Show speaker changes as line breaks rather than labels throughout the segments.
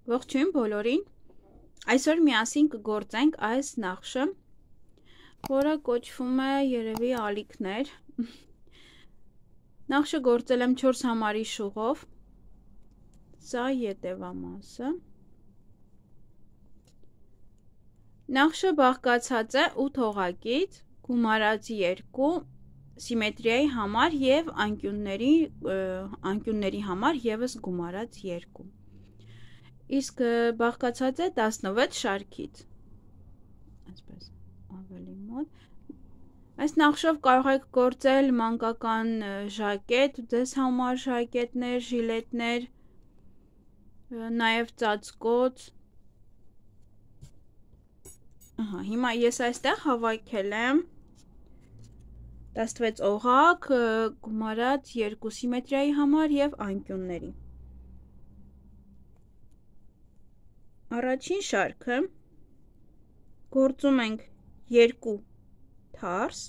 Ողջույն բոլորին, այսօր միասին կգործենք այս նախշը, որը կոչվում է երևի ալիքներ, նախշը գործել եմ 4 համարի շուղով, սա ետևամասը, նախշը բաղկացած է 8 հողակից, գումարած 2, սիմետրիայի համար և անկյունների համար ևս գումարած 2, իսկ բաղկացած է 16 շարքից, այսպես ավելի մոտ, այս նախշով կարող եք գործել մանկական ժակետ, ձեզ համար ժակետներ, ժիլետներ, նաև ծածկոց, հիմա ես այստեղ հավաքել եմ 16 օղակ, գումարած 2 սիմետրիայի համար և անկյունների, առաջին շարքը գործում ենք 2 թարս,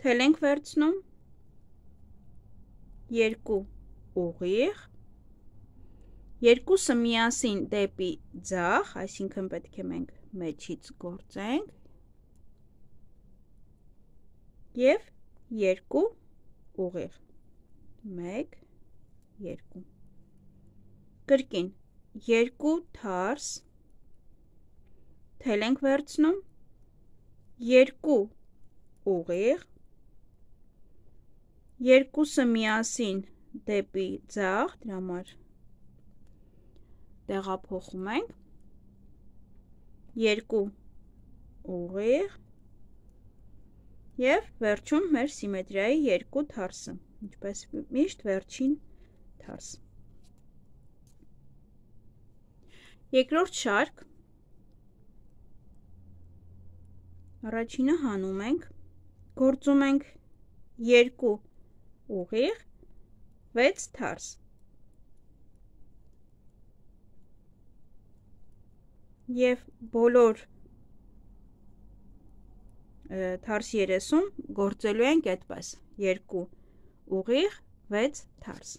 թել ենք վերցնում, 2 ուղիղ, երկուսը միասին դեպի ձախ, այսինքն պետք է մենք մեջից գործենք և 2 ուղիղ, 1, 2, կրկին 2 թարս, թել ենք վերցնում, 2 ուղիղ, երկուսը միասին դեպի ձախ, դրա համար տեղափոխում ենք, 2 ուղիղ և վերջում մեր սիմետրիայի 2 թարսը, ինչպես միշտ վերջին թարս։ Երկրորդ շարք, առաջինը հանում ենք, գործում ենք 2 ուղիղ, 6 թարս, և բոլոր թարս 30 գործելու ենք այդպես, 2 ուղիղ, 6 թարս։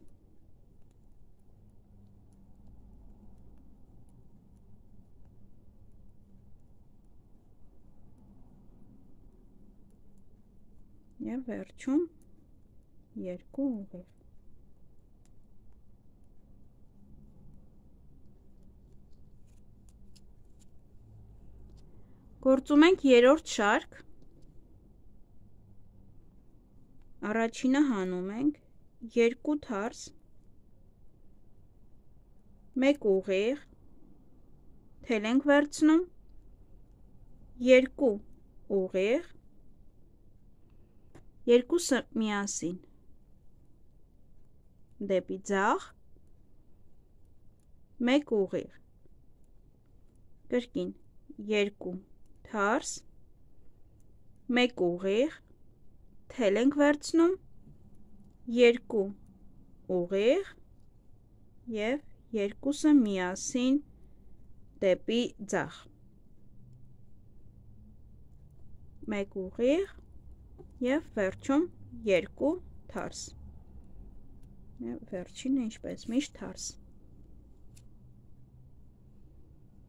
Եվ վերջում 2 ուղիղ։ Գործում ենք երրորդ շարք, առաջինը հանում ենք, 2 թարս, 1 ուղիղ, թել ենք վերցնում, 2 ուղիղ, երկուսը միասին դեպի ձախ, 1 ուղիղ, կրկին 2 թարս, 1 ուղիղ, թել ենք վերցնում, 2 ուղիղ և երկուսը միասին դեպի ձախ, 1 ուղիղ և վերջում 2 թարս, վերջինը ինչպես միշտ թարս։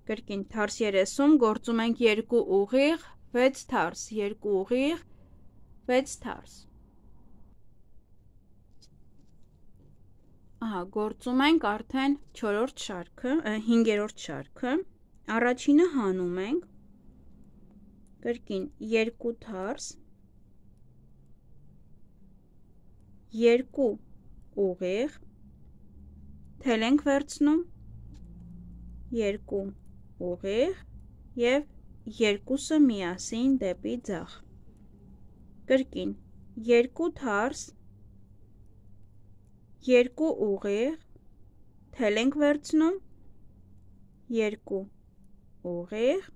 Կրկին թարս 30 գործում ենք 2 ուղիղ, 6 թարս, 2 ուղիղ, 6 թարս։ Գործում ենք արդեն 4-րդ շարքը, 5-րդ շարքը, առաջինը հանում ենք, կրկին 2 թարս, 2 ուղիղ, թել ենք վերցնում, 2 ուղիղ և երկուսը միասին դեպի ձախ, կրկին 2 թարս, 2 ուղիղ, թել ենք վերցնում, 2 ուղիղ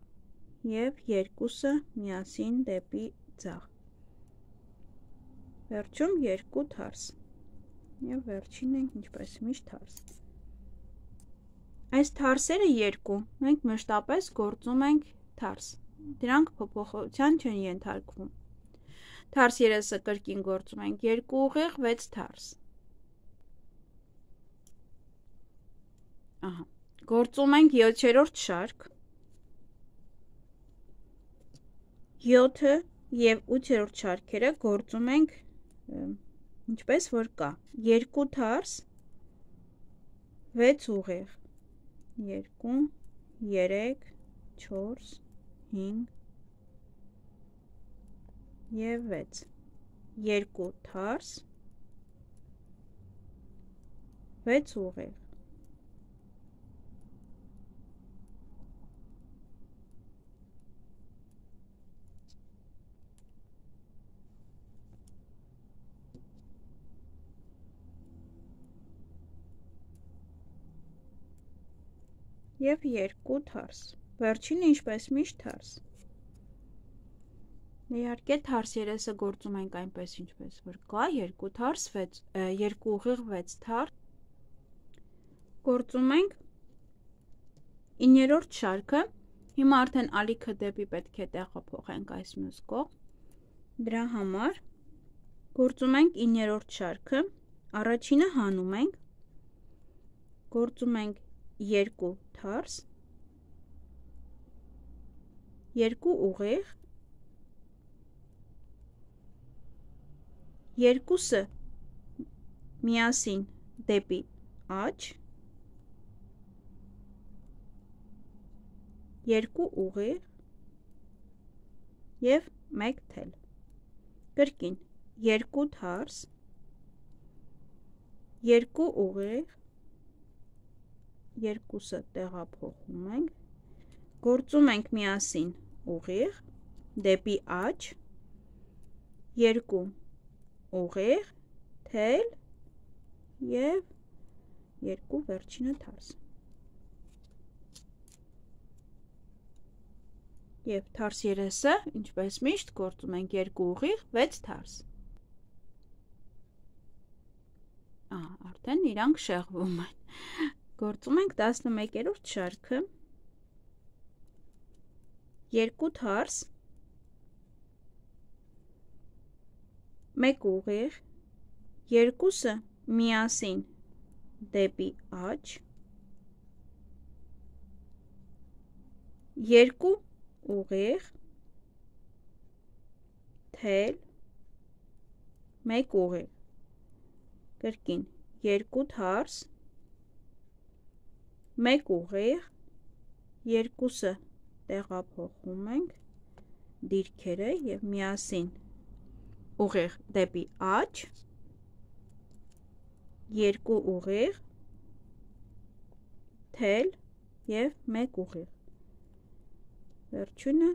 և երկուսը միասին դեպի ձախ, վերջում 2 թարս և վերջինը ինչպես միշտ թարս։ Այս թարսերը 2 մենք մշտապես գործում ենք թարս, դրանք փոփոխության չեն ենթարկվում, թարս 30-ը կրկին գործում ենք 2 ուղիղ, 6 թարս, Ահա, գործում ենք 7-րդ շարք, 7-ը և 8-րդ շարքերը գործում ենք ինչպես որ կա, 2 թարս, 6 ուղեղ, 2, 3, 4, 5 և 6, 2 թարս, 6 ուղեղ, և 2 թարս, վերջինը ինչպես միշտ թարս, իհարկե թարս երեսը գործում ենք այնպես ինչպես որ կա, 2 թարս, 2 ուղիղ 6 թարս, գործում ենք 9-րդ շարքը, հիմա արդեն ալիքը դեպի պետք է տեղափոխենք այս մյուս կողմ, դրա համար գործում ենք 9-րդ շարքը, առաջինը հանում ենք, գործում ենք 2 թարս, 2 ուղիղ, 2-ը միասին դեպի աջ, 2 ուղիղ և 1 թել, կրկին 2 թարս, 2 ուղիղ, 2-ը տեղափոխում ենք, գործում ենք միասին ուղիղ, դեպի աջ, 2 ուղիղ, թել և 2 վերջինը թարս։ Եվ թարս երեսը, ինչպես միշտ, գործում ենք 2 ուղիղ, 6 թարս։ Արդեն իրանք շեղվում են։ Գործում ենք 11-րդ շարքը, 2 թարս, 1 ուղիղ, 2-ը միասին դեպի աջ, 2 ուղիղ, թել, 1 ուղիղ, կրկին 2 թարս, 1 ուղիղ, 2-ը տեղափոխում ենք, դիրքերը և միասին ուղիղ դեպի աջ, 2 ուղիղ, թել և 1 ուղիղ, վերջինը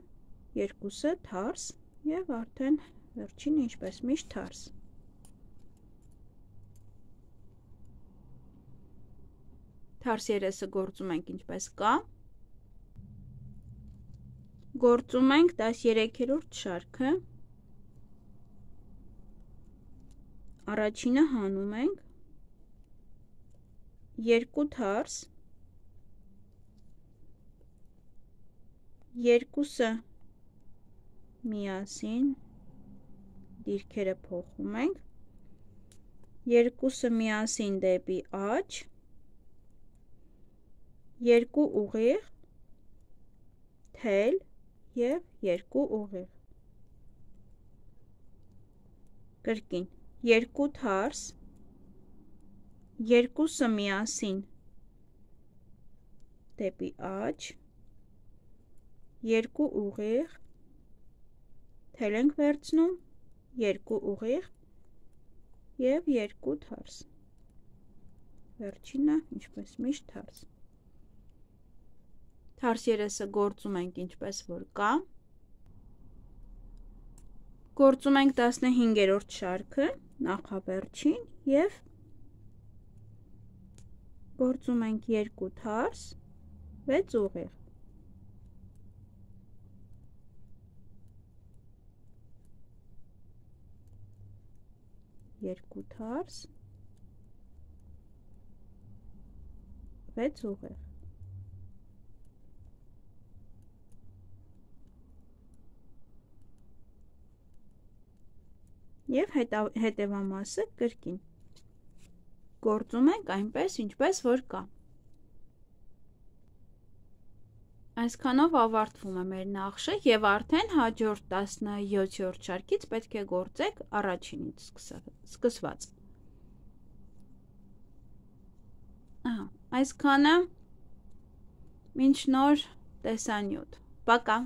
2-ը թարս և արդեն վերջինը ինչպես միշտ թարս։ Թարս երեսը գործում ենք ինչպես կա, գործում ենք 13-րդ շարքը, առաջինը հանում ենք, 2 թարս, 2-ը միասին դիրքերը փոխում ենք, 2-ը միասին դեպի աջ, 2 ուղիղ, թել և 2 ուղիղ, կրկին 2 թարս, 2-ը միասին դեպի աջ, 2 ուղիղ, թել ենք վերցնում, 2 ուղիղ և 2 թարս, վերջինը ինչպես միշտ թարս։ Թարս երեսը գործում ենք ինչպես որ կա, գործում ենք 15-րդ շարքը, նախավերջին և գործում ենք 2 թարս, 6 ուղիղ, 2 թարս, 6 ուղիղ, և հետևամասը կրկին գործում ենք այնպես ինչպես որ կա, Այսքանով ավարտվում է մեր նախշը եւ արդեն հաջորդ 17-րդ շարքից պետք է գործեք առաջինից սկսված։ Այսքանը, մինչ նոր տեսանյութ։ Пока։